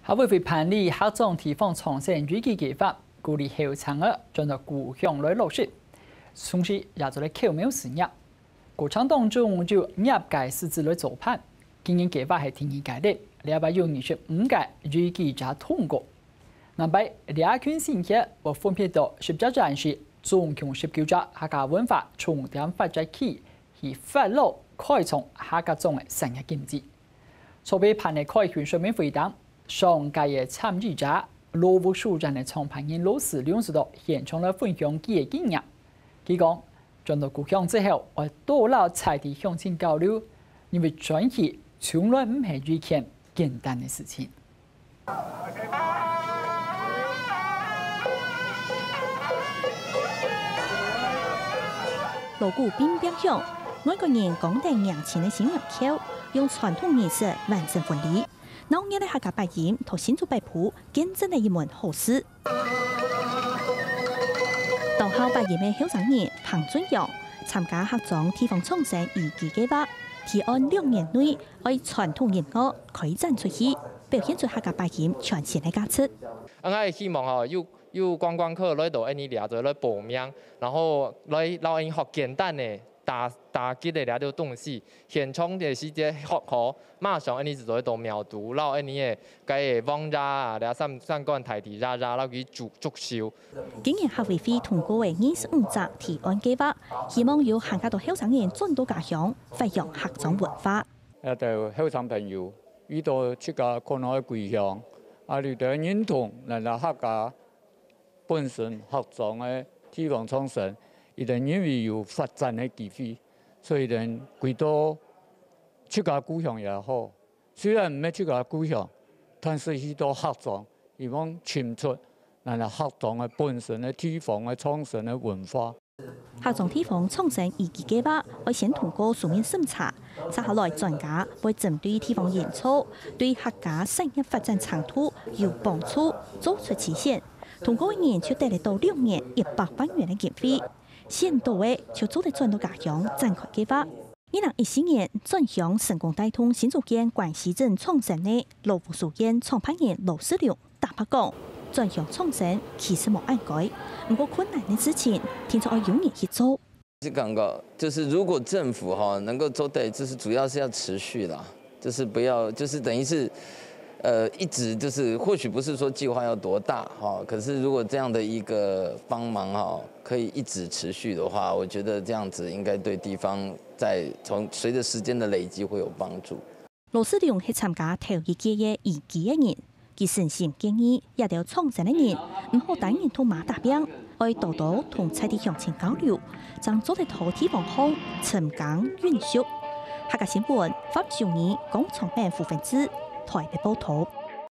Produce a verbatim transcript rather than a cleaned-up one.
客委會辦理客庄地方創生育基計畫，鼓勵後生仔轉到故鄉來落實，同時也做得口苗事業。過程當中有業界獅子來助辦，今年計畫係第二屆了，這擺有二十五個育基者通過。 另外，這群新血會分別到十隻縣市，總共十九隻客家文化重點發展區去發展開創客家庄个產業經濟。籌備辦个開訓說明會當，上屆个參與者，羅屋書院个創辦人羅思良就到現場來分享佢个經驗。佢講，轉到故鄉之後，會多摎在地鄉親交流，因為轉去從來毋係一件簡單个事情。 鑼鼓乒乓響，外國人扛等迎親个新娘轎，用傳統儀式完成婚禮。鬧熱个客家八音同新竹北埔見證了一門好事。當好八音个後生人彭俊陽參加客庄地方創生育基計畫，提案兩年內 愛傳統音樂開展出去，表現出客家八音傳承个價值。𠊎希望吼，有有觀光客來到𠊎俚這做來報名，然後來摎𠊎俚學簡單个打打擊个這兜東西，現場个時節學好，馬上𠊎俚就做得到苗栗，摎𠊎俚个該个王爺啊，這三三官大帝爺爺摎佢祝祝壽。今年客委會通過个二十五隻提案計畫，希望有還較多後生人轉到家鄉，發揚客庄文化。 這兜後生朋友，遇到自家可能个歸鄉，啊，佢兜認同咱个客家本身客庄个地方創生，佢兜認為有發展个機會，所以佢兜歸到自家故鄉也好，雖然毋係自家故鄉，但是去到客庄，希望尋出咱个客庄个本身个地方个創生个文化。 客庄地方創生育基計畫愛先通過書面審查，接下來專家會針對地方營造、對客家產業發展程度有幫助，做出篩選。通過个人就得得到兩年一百萬元个經費，選到个就做得轉到家鄉展開計畫。二零一四年，轉鄉成功帶動新竹縣關西鎮創生个羅屋書院創辦人羅世龍 坦白講，轉鄉創生其實無恁該，毋過困難个事情，定著愛有人去做。是感覺就是如果政府吼能夠做到，就是主要是要持續啦，就是不要就是等於是，呃，一直就是或許不是說計劃要多大哈，可是如果這樣的一個幫忙哈，可以一直持續的話，我覺得這樣子應該對地方在從隨著時間的累積會有幫助。 羅世龍係參加頭一屆个育基个人，佢誠心建議這兜創生个人毋好單人獨馬打拚，愛多多同在地鄉親交流，正做得到地方項深耕耘熟。客家新聞，黃秀儀、江昌明、胡文志，台北報導。